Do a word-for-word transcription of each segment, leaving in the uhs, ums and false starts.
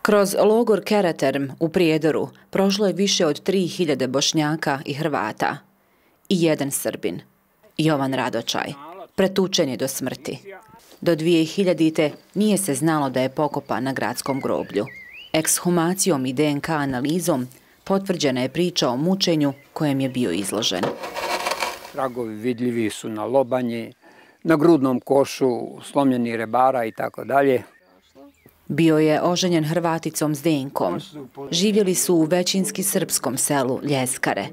Kroz logor Karaterm u Prijedoru prošlo je više od tri hiljade Bošnjaka i Hrvata i jedan Srbin, Jovan Radočaj, pretučen je do smrti. Do dvije hiljadite. nije se znalo da je pokopan na gradskom groblju. Ekshumacijom i D N K analizom potvrđena je priča o mučenju kojem je bio izložen. Tragovi vidljivi su na lobanji, na grudnom košu, slomljeni rebara i tako dalje. Bio je oženjen Hrvaticom Zdenkom. Živjeli su u većinski srpskom selu Ljeskare.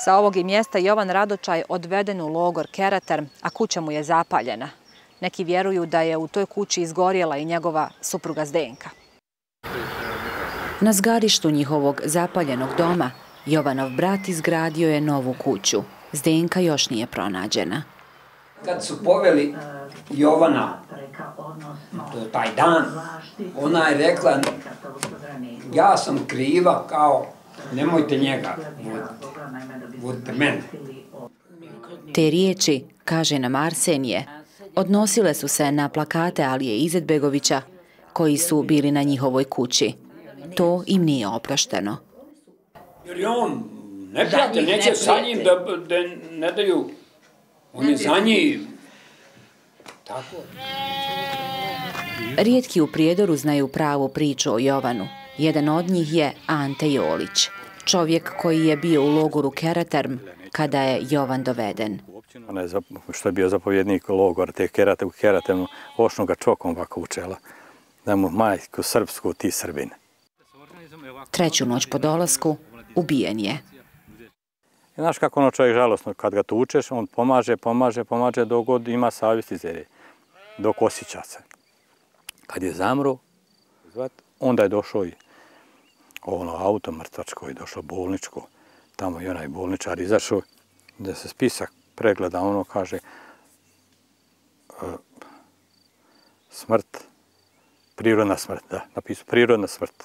Sa ovog je mjesta Jovan Radočaj odveden u logor Karaterm, a kuća mu je zapaljena. Neki vjeruju da je u toj kući izgorjela i njegova supruga Zdenka. Na zgarištu njihovog zapaljenog doma Jovanov brat izgradio je novu kuću. Zdenka još nije pronađena. Kad su poveli Jovana, to je taj dan, ona je rekla, ja sam kriva, kao, nemojte njega, vodite mene. Te riječi, kaže nam Arsenije, odnosile su se na plakate Alije Izetbegovića, koji su bili na njihovoj kući. To im nije oprošteno. Jer je on neprijatelj, neće sa njim da ne daju, on je za njih. Tako. Rijetki u Prijedoru znaju pravu priču o Jovanu. Jedan od njih je Ante Jolić, čovjek koji je bio u logoru Karaterm kada je Jovan doveden. Što je bio zapovjednik logora, te u Karatermu, ošnu ga čokom ovako učela, da mu majku srpsku, ti Srbine. Treću noć po dolasku ubijen je. Znaš kako ono čovjek žalostno, kad ga tučeš, on pomaže, pomaže, pomaže dok god ima savjest i zere, dok osjeća se. Kad je zamro, onda je došao i ono auto mrtvačko i došao bolničko, tamo i onaj bolničar izašao, da se spisak pregleda, ono kaže smrt, prirodna smrt, da, napisao prirodna smrt.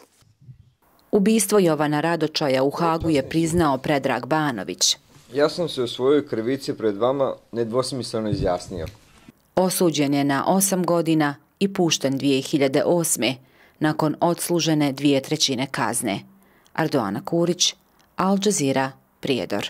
Ubistvo Jovana Radočaja u Hagu je priznao Predrag Banović. Ja sam se u svojoj krivici pred vama nedvosmisleno izjasnio. Osuđen je na osam godina i pušten dvije hiljade osme. nakon odslužene dvije trećine kazne. Ardoana Kurić, Al Jazeera, Prijedor.